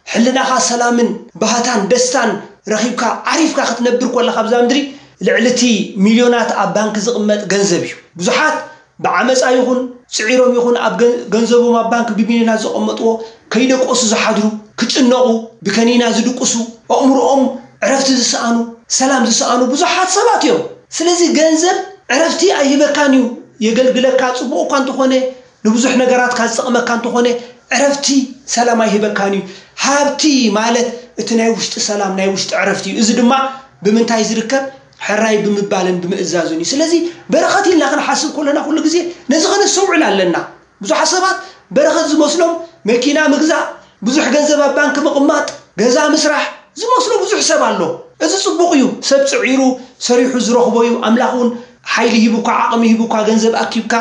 ሕልናኻ ሰላምን ባህታን ደስታን ረኺብካ ዓሪፍካ ክትነብር ከለኻ ኣብዛ ምድሪ፣ ልዕሊ እቲ ሚልዮናት ኣብ ባንክ ዝቕመጥ ገንዘብ እዩ። ብዙሓት ብዓመጻ ይኹን ስዒሮም ይኹን ኣብ ገን-፣ ገንዘቦም ኣብ ባንክ ብሚልዮናት ዘቐመጥዎ ከይደቀሱ ዝሓድሩ፣ ክጭነቑ፣ ብከኒና ዝድቅሱ፣ ኣእምሮኦም ዕረፍቲ ዝሰኣኑ፣ ሰላም ዝሰኣኑ ብዙሓት ሰባት እዮም። ስለዚ ገንዘብ ዕረፍቲ ኣይህበካን እዩ። የገልግለካ፣ ጽቡቕ እኳ እንተኾነ፣ ንብዙሕ ነገራትካ ዝጠቕመካ እንተኾነ፣ ዕረፍቲ ሰላም ኣይህበካን እዩ። ሃብቲ ማለት እቲ ናይ ውሽጢ ሰላም፣ ናይ ውሽጢ ዕረፍቲ እዩ። እዚ ድማ ብምንታይ ዝርከብ? ሕራይ ብምባልን ብምእዛዝን እዩ። ስለዚ በረኸት ኢልና ክንሓስብ ከለና ኩሉ ግዜ ነዚ ከነስተውዕል ኣለና። ብዙሓት ሰባት በረኸት ዝመስሎም መኪና ምግዛእ፣ ብዙሕ ገንዘብ ኣብ ባንክ ምቕማጥ፣ ገዛ ምስራሕ ዝመስሎ ብዙሕ ሰብ ኣሎ። እዚ ጽቡቕ እዩ። ሰብ ጽዒሩ ሰሪሑ ዝረኽቦ እዩ። ኣምላኽ እውን ሓይሊ ሂቡካ፣ ዓቕሚ ሂቡካ፣ ገንዘብ ኣኪብካ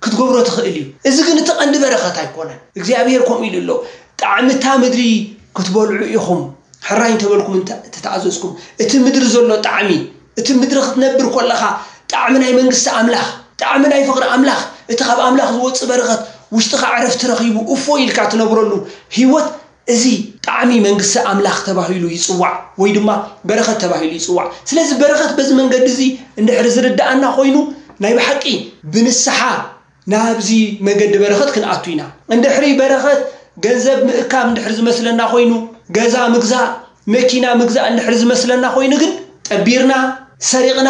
ክትገብሮ ትኽእል እዩ። እዚ ግን እቲ ቀንዲ በረኸት ኣይኮነን። እግዚኣብሔር ከምኡ ኢሉ ኣሎ፣ "ጣዕሚ እታ ምድሪ ክትበልዑ ኢኹም፣ ሕራይ እንተበልኩም እንተ-፣ እንተተኣዘዝኩም።" እቲ ምድሪ ዘሎ ጣዕሚ፣ እቲ ምድሪ ክትነብር ከለኻ ጣዕሚ ናይ መንግስቲ ኣምላኽ፣ ጣዕሚ ናይ ፍቕሪ ኣምላኽ፣ እቲ ካብ ኣምላኽ ዝወጽእ በረኸት ውሽጥኻ ዕረፍቲ ረኺቡ እፎይ ኢልካ ትነብረሉ ህይወት፣ እዚ ጣዕሚ መንግስቲ ኣምላኽ ተባሂሉ ይጽዋዕ፣ ወይ ድማ በረኸት ተባሂሉ ይጽዋዕ። ስለዚ በረኸት በዚ መንገዲ እዚ እንድሕር ዝርድኣና ኮይኑ፣ ናይ ብሓቂ ብንስሓ ናብዚ መገዲ በረኸት ክንኣቱ ኢና። እንድሕሪ በረኸት ገንዘብ ምእካብ እንድሕር ዝመስለና ኮይኑ፣ ገዛ ምግዛእ፣ መኪና ምግዛእ እንድሕር ዝመስለና ኮይኑ ግን፣ ጠቢርና፣ ሰሪቕና፣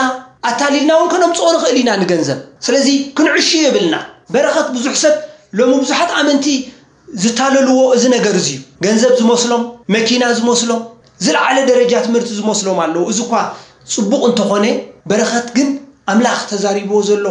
ኣታሊልና እውን ከነምጽኦ ንኽእል ኢና ንገንዘብ። ስለዚ ክንዕሹ የብልና። በረኸት ብዙሕ ሰብ ሎሚ ብዙሓት ኣመንቲ ዝታለልዎ እዚ ነገር እዚ እዩ። ገንዘብ ዝመስሎም፣ መኪና ዝመስሎም፣ ዝለዓለ ደረጃ ትምህርቲ ዝመስሎም ኣለዉ። እዚ እኳ ጽቡቕ እንተኾነ፣ በረኸት ግን ኣምላኽ ተዛሪብዎ ዘሎ፣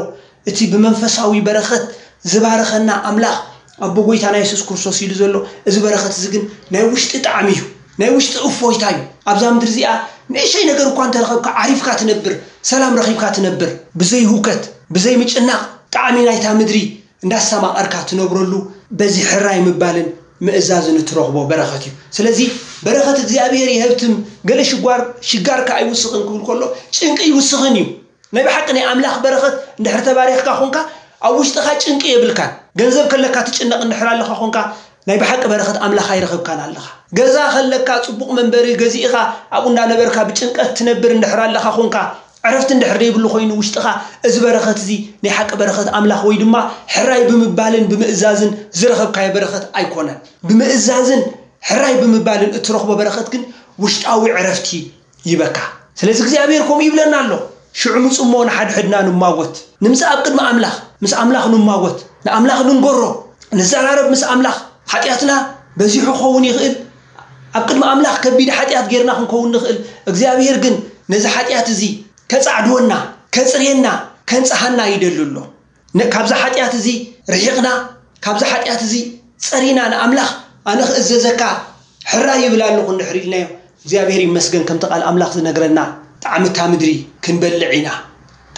እቲ ብመንፈሳዊ በረኸት ዝባረኸና ኣምላኽ ኣቦ ጎይታና የሱስ ክርስቶስ ኢሉ ዘሎ፣ እዚ በረኸት እዚ ግን ናይ ውሽጢ ጣዕሚ እዩ፣ ናይ ውሽጢ እፎይታ እዩ። ኣብዛ ምድሪ እዚኣ ንእሽተይ ነገር እኳ እንተረኸብካ ዓሪፍካ ትነብር፣ ሰላም ረኺብካ ትነብር፣ ብዘይ ህውከት፣ ብዘይ ምጭናቕ ጣዕሚ ናይታ ምድሪ እንዳስተማቐርካ ትነብረሉ፣ በዚ ሕራይ ምባልን ምእዛዝን እትረኽቦ በረኸት እዩ። ስለዚ በረኸት እግዚኣብሔር ይሀብትም፣ ገለ ሽጓር፣ ሽጋርካ ኣይውስኽን ክብል ከሎ ጭንቂ ይውስኽን እዩ። ናይ ብሓቂ ናይ ኣምላኽ በረኸት እንድሕር ተባሪኽካ ኾንካ፣ ኣብ ውሽጥኻ ጭንቂ የብልካን። ገንዘብ ከለካ ትጭነቕ እንድሕር ኣለኻ ኾንካ፣ ናይ ብሓቂ በረኸት ኣምላኽ ኣይረኸብካን ኣለኻ። ገዛ ከለካ፣ ጽቡቕ መንበሪ ገዚእኻ ኣብኡ እንዳነበርካ ብጭንቀት ትነብር እንድሕር ኣለኻ ኾንካ፣ ዕረፍቲ እንድሕር ዘይብሉ ኮይኑ ውሽጥኻ፣ እዚ በረኸት እዚ ናይ ሓቂ በረኸት ኣምላኽ ወይ ድማ ሕራይ ብምባልን ብምእዛዝን ዝረኸብካዮ በረኸት ኣይኮነን። ብምእዛዝን ሕራይ ብምባልን እትረኽቦ በረኸት ግን ውሽጣዊ ዕረፍቲ ይበካ። ስለዚ እግዚኣብሔር ከምኡ ይብለና ኣሎ፣ "ሽዑ ምጹ እሞ ንሓድሕድና ንማጎት፣ ንምጻእ ኣብ ቅድሚ ኣምላኽ፣ ምስ ኣምላኽ ንማጎት፣ ንኣምላኽ ንንገሮ፣ ንዘራረብ ምስ ኣምላኽ። ሓጢኣትና በዚሑ ክኸውን ይኽእል፣ ኣብ ቅድሚ ኣምላኽ ከቢድ ሓጢኣት ጌርና ክንከውን ንኽእል። እግዚኣብሔር ግን ነዚ ሓጢኣት እዚ ከጻዕድወና፣ ከጽርየና፣ ከንጽሃና ይደሊ ኣሎ። ን-፣ ካብዚ ሓጢኣት እዚ ርሒቕና፣ ካብዚ ሓጢኣት እዚ ጸሪና ንኣምላኽ ኣነ ክእዘዘካ ሕራይ ይብል ኣለኹ እንድሕር ኢልናዮ፣ እግዚኣብሔር ይመስገን ከምቲ ቃል ኣምላኽ ዝነግረና ጣዕሚ እታ ምድሪ ክንበልዕ ኢና።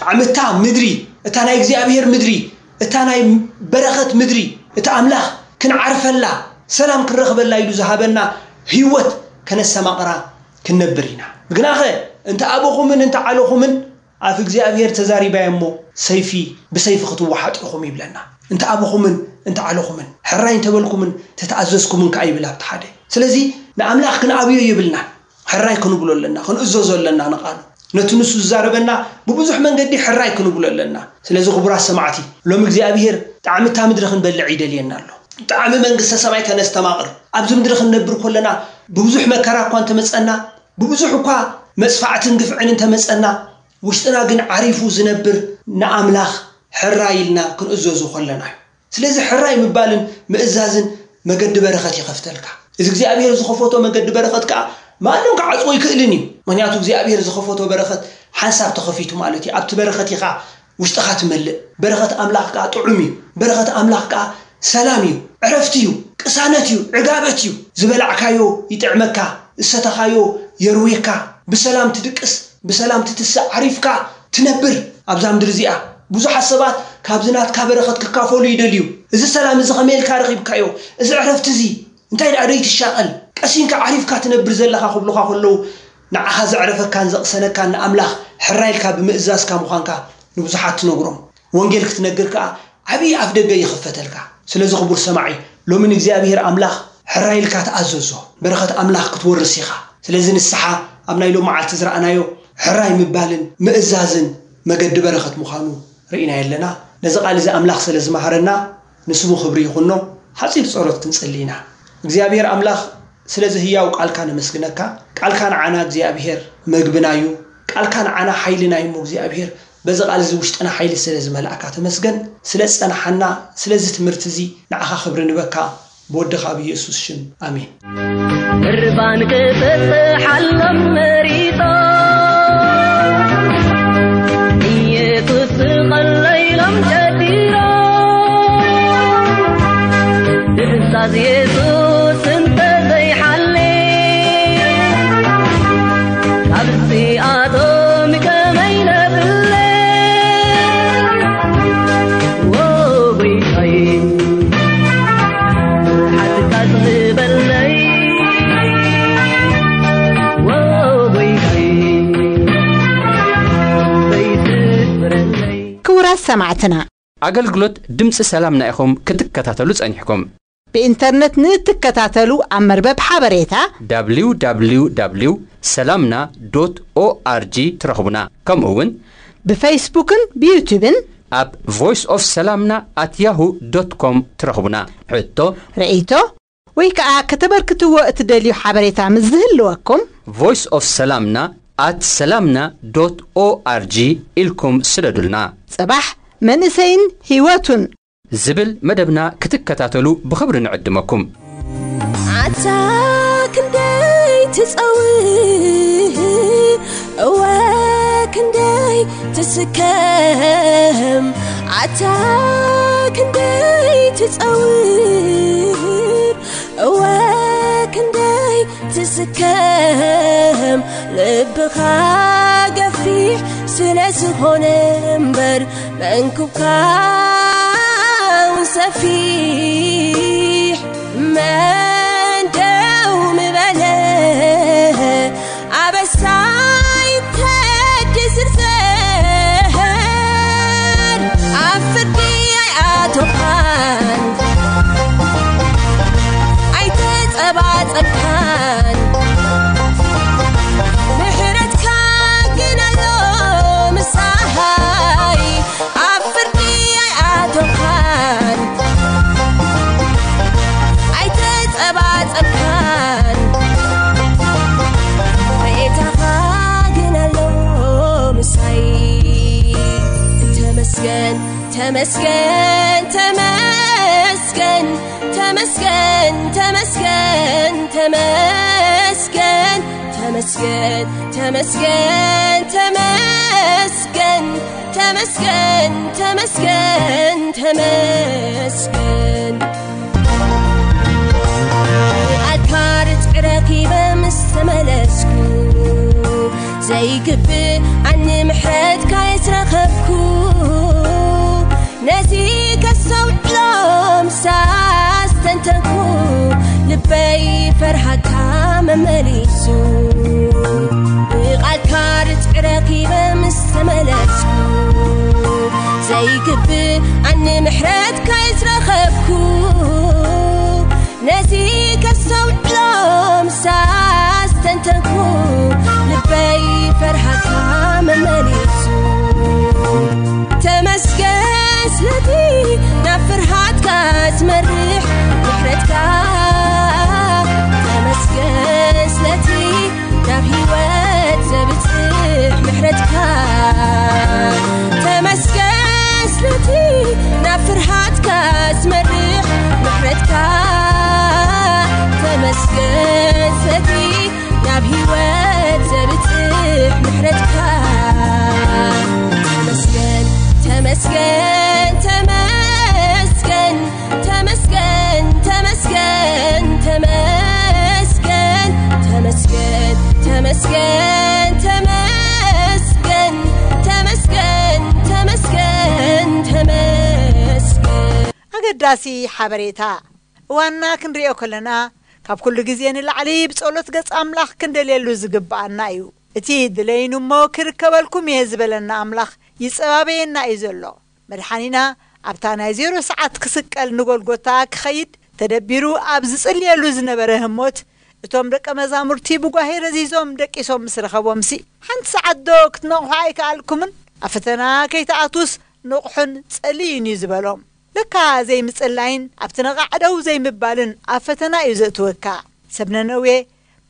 ጣዕሚ እታ ምድሪ፣ እታ ናይ እግዚኣብሔር ምድሪ፣ እታ ናይ በረኸት ምድሪ፣ እታ ኣምላኽ ክንዓርፈላ፣ ሰላም ክንረኽበላ ኢሉ ዝሃበና ህይወት ከነስተማቕራ ክንነብር ኢና። ግናኸ እንተ ኣበኹምን እንተ ዓለኹምን ኣፍ እግዚኣብሔር ተዛሪባዮ እሞ፣ ሰይፊ ብሰይፊ ክትወሓጡ ኢኹም ይብለና። እንተ ኣበኹምን እንተ ዓለኹምን ሕራይ እንተበልኩምን ተተኣዘዝኩምን ከኣ ይብል ኣብቲ ሓደ። ስለዚ ንኣምላኽ ክንኣብዮ የብልናን። ሕራይ ክንብሎ ኣለና፣ ክንእዘዞ ኣለና ንቓሉ። ነቲ ንሱ ዝዛረበና ብብዙሕ መንገዲ ሕራይ ክንብሎ ኣለና። ስለዚ ክቡራት ሰማዕቲ፣ ሎም እግዚኣብሔር ጣዕሚ እታ ምድሪ ክንበልዕ ይደልየና ኣሎ። ጣዕሚ መንግስተ ሰማይ ከነስተማቕር፣ ኣብዚ ምድሪ ክንነብር ከለና ብብዙሕ መከራ እኳ እንተመጸና፣ ብብዙሕ እኳ መጽፋዕትን ግፍዕን እንተመጸና፣ ውሽጥና ግን ዓሪፉ ዝነብር ንኣምላኽ ሕራይ ኢልና ክንእዘዙ ከለና እዩ። ስለዚ ሕራይ ምባልን ምእዛዝን መገዲ በረኸት ይኸፍተልካ። እዚ እግዚኣብሔር ዝኸፈቶ መገዲ በረኸት ከኣ ማንም ክዓጽዎ ይክእልን እዩ። ምኽንያቱ እግዚኣብሔር ዝኸፈቶ በረኸት ሓንሳብ ተኸፊቱ ማለት እዩ። ኣብቲ በረኸት ኢኻ ውሽጥኻ ትመልእ። በረኸት ኣምላኽ ከኣ ጥዑም እዩ። በረኸት ኣምላኽ ከኣ ሰላም እዩ፣ ዕረፍቲ እዩ፣ ቅሳነት እዩ፣ ዕጋበት እዩ። ዝበላዕካዮ ይጥዕመካ፣ ዝሰተኻዮ የርዌካ፣ ብሰላም ትድቅስ፣ ብሰላም ትትስእ፣ ዓሪፍካ ትነብር። ኣብዛ ምድሪ እዚኣ ብዙሓት ሰባት ካብዚ ናትካ በረኸት ክካፈሉ ይደልዩ። እዚ ሰላም እዚ ከመይ ኢልካ ረኺብካዮ? እዚ ዕረፍቲ እዚ እንታይ ደኣ ደይ ትሻቐል? ቀሲንካ ዓሪፍካ ትነብር ዘለኻ ክብሉኻ ከለዉ፣ ንዓኻ ዘዕረፈካን ዘቕሰነካን ንኣምላኽ ሕራይ ኢልካ ብምእዛዝካ ምዃንካ ንብዙሓት ትነግሮም። ወንጌል ክትነግር ከኣ ዓብዪ ኣፍ ደገ ይኽፈተልካ። ስለዚ ክቡር ሰማዒ፣ ሎሚ ንእግዚኣብሔር ኣምላኽ ሕራይ ኢልካ ተኣዘዞ። በረኸት ኣምላኽ ክትወርስ ኢኻ። ስለዚ ንስሓ ኣብ ናይ ሎም መዓልቲ ዝረኣናዮ ሕራይ ምባልን ምእዛዝን መገዲ በረኸት ምዃኑ ርኢናዮ ኣለና። ነዚ ቃል እዚ ኣምላኽ ስለ ዝመሃረና ንስሙ ክብሪ ይኹኖ። ሓጺር ጸሎት ክንጽሊ ኢና። እግዚኣብሔር ኣምላኽ ስለዚ ህያው ቃልካ ነመስግነካ። ቃልካ ንዓና እግዚኣብሔር መግብና እዩ። ቃልካ ንዓና ሓይልና እዩ እሞ እግዚኣብሔር በዚ ቃል እዚ ውሽጥና ሓይሊ ስለ ዝመልኣካ ተመስገን። ስለ ዝጸናሓና ስለዚ ትምህርቲ እዚ ንዓኻ ክብሪ ንበካ። ብወድኻ ብኢየሱስ ሽም ኣሜን። እርባን ክፍትሓሎም መሪጾ ኢየሱስ ስቐለይሎም ጨዲሮ ትእዛዝ ኢየሱስ እንተዘይሓሌ ካብዚኣቶም ከመይ ነብለ ወጎይታይ ሓትካ ዝበለይ ወጎይታይ ዘይትፍረለይ። ክቡራት ሰማዕትና፣ ኣገልግሎት ድምፂ ሰላምና ኢኹም ክትከታተሉ ጸኒሕኩም። ብኢንተርነት ንእትከታተሉ ኣብ መርበብ ሓበሬታ www ሰላምና ዶት ኦኣርጂ ትረኽቡና። ከምኡ እውን ብፈይስቡክን ብዩቱብን ኣብ ቮይስ ኦፍ ሰላምና ኣት ያሁ ዶት ኮም ትረኽቡና። ሕቶ፣ ርእይቶ ወይ ከኣ ከተበርክትዎ እትደልዩ ሓበሬታ ምስ ዝህልወኩም ቮይስ ኦፍ ሰላምና ኣት ሰላምና ዶት ኦኣርጂ ኢልኩም ስደዱልና። ጽባሕ መንእሰይን ህይወቱን ዝብል መደብና ክትከታተሉ ብኽብሪ ንዕድመኩም። ኣታ ክንደይ ትጸውር፣ እወ ክንደይ ትስከም፣ ኣታ ክንደይ ትጸውር፣ እወ ክንደይ ትስከም፣ ልብኻ ገፊሕ ስለ ዝኾነ እምበር መንኩብካ እውን ሰፊሕ መን ደው ምበለ ኣበሳይ ተዲ ዝርዘር ኣብ ፍርዲ ኣይኣቶኻን ኣይተጸባጸብካን ምሕረትካ ግን ኣሎ ምሳይ ኣብ ፍርዲ ኣይኣቶኻን ኣይተጸባጸብካን ሬታኻ ግን ኣሎ ምሳይ ተመስገን ተመስገን ተመስገን ተመስገን ተመስገን ተመስገን ተመስገን ተመስገን ተመስገን ተመስገን ተመስገን ተመስገን ኣልካ ርትዕ ረኺበ ምስ ተመለስኩ ዘይግብእ ኣኒ ምሕረትካ የስረኸብኩ ነዚ ከስተውዕሎ ምሳስተንተንኩ ልበይ ፈርሃካ መመሊሱ ብቓልካ ርትዕ ረኺበ ምስ ተመለስኩ፣ ዘይግብኣኒ ምሕረትካ ዝረኸብኩ፣ ነዚ ከስተውዕሎ ምስ ኣስተንተንኩ፣ ልበይ ፈርሃካ መመሊሱ። ተመስገን ስለቲ ናብ ፍርሃትካ ዝመርሕ ምሕረትካ። ተመስገን ስለቲ ናብ ህይወት ዘብጽሕ ምሕረትካ። ተመስገን ስለቲ ናብ ፍርሃትካ ዝመርሕ ምሕረትካ። ተመስገን ስለቲ ናብ ህይወት ዘብጽሕ ምሕረትካ። ተመስገን፣ ተመስገን፣ ተመስገን፣ ተመስገን፣ ተመስገን፣ ተመስገን፣ ተመስገን፣ ተመስገን፣ ተመስገን፣ ተመስገን፣ ተመስገን፣ ተመስገን። ኣገዳሲ ሓበሬታ። እዋንና ክንሪኦ ከለና፣ ካብ ኩሉ ግዜ ንላዕሊ ብጸሎት ገጽ ኣምላኽ ክንደልየሉ ዝግብኣና እዩ። እቲ ድለይኑ እሞ ክርከበልኩም እየ ዝበለና ኣምላኽ ይጸባበየና እዩ ዘሎ። መድሓኒና ኣብታ ናይ ዜሮ ሰዓት ክስቀል ንጎልጎታ ክኸይድ ተደቢሩ ኣብ ዝጽልየሉ ዝነበረ ህሞት፣ እቶም ደቀ መዛሙርቲ ብጓሄ ረዚዞም ደቂሶም ምስ ረኸቦምሲ፣ ሓንቲ ሰዓት ዶ ክትነቕሑ ኣይከኣልኩምን? ኣብ ፈተና ከይትኣትዉስ ንቕሑን ጸልዩን እዩ ዝበሎም። ለካ ዘይምጽላይን ኣብቲ ነቓዕ ደው ዘይምባልን ኣብ ፈተና እዩ ዘእትወካ። ሰብ ነነዌ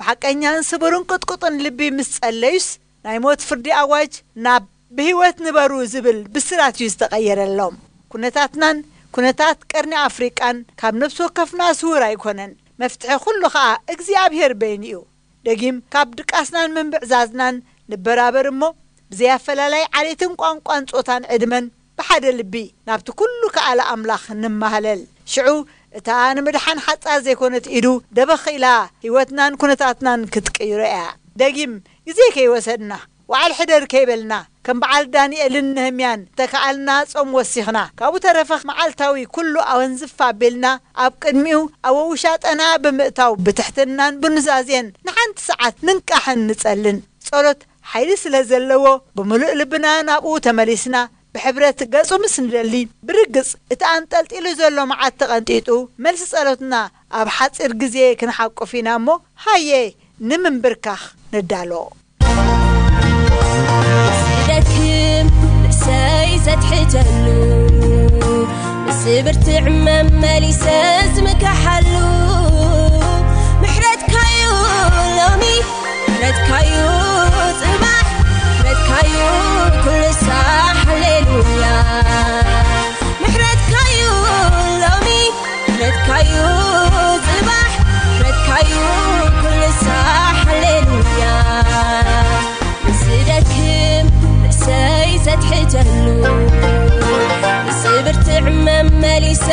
ብሓቀኛን ስቡርን ቅጥቁጥን ልቢ ምስ ጸለዩስ፣ ናይ ሞት ፍርዲ ኣዋጅ ናብ ብህይወት ንበሩ ዝብል ብስራት እዩ ዝተቐየረሎም። ኩነታትናን ኩነታት ቀርኒ ኣፍሪቃን ካብ ነፍሲ ወከፍና ስዉር ኣይኮነን። መፍትሒ ኩሉ ኸኣ እግዚኣብሔር በይኑ እዩ። ደጊም ካብ ድቃስናን ምንብዕዛዝናን ንበራበር እሞ፣ ብዘይ ኣፈላላይ ዓሌትን ቋንቋን ጾታን ዕድመን ብሓደ ልቢ ናብቲ ኩሉ ከኣለ ኣምላኽ ንማህለል። ሽዑ እታ ንምድሓን ሓጻር ዘይኮነት ኢዱ ደበኽ ኢላ ህይወትናን ኩነታትናን ክትቅይሮ እያ። ደጊም ግዜ ከይወሰድና፣ ወዓል ሕደር ከይበልና፣ ከም በዓል ዳንኤልን ነህምያን ተከኣልና ጾም ወሲኽና፣ ካብኡ ተረፈ መዓልታዊ ኩሉ ኣወንዝፍ ኣቢልና ኣብ ቅድሚኡ ኣብ ውሻጠና ብምእታው ብትሕትናን ብኑዛዜን ንሓንቲ ሰዓት ንንቃሕን ንጸልን። ጸሎት ሓይሊ ስለ ዘለዎ ብምሉእ ልብና ናብኡ ተመሊስና ብሕብረት ገጹ ምስ ንደሊ፣ ብርግጽ እቲ ኣንጠልጢሉ ዘሎ መዓት ተቐንጢጡ፣ መልሲ ጸሎትና ኣብ ሓጺር ግዜ ክንሓቁፍ ኢና እሞ፣ ሃየ ንምንብርካኽ ንዳሎ። ዝደክም ርእሰይ ዘትሕተሉ፣ ምስ ብርትዕ መመሊሰ ዝምካሓሉ፣ ምሕረትካዩ ሎሚ፣ ምሕረትካዩ ጽባሕ፣ ምሕረትካዩ ኩሉ ሳዕ፣ ሃሌሉያ። ምሕረትካዩ ሎሚ፣ ምሕረትካዩ ጽባሕ፣ ምሕረትካዩ ኩሉ ሳዕ፣ ሃሌሉያ። ዝደክም ርእሰይ ዘትሕተሉ፣ ምስ ብርትዕ መመሊሰ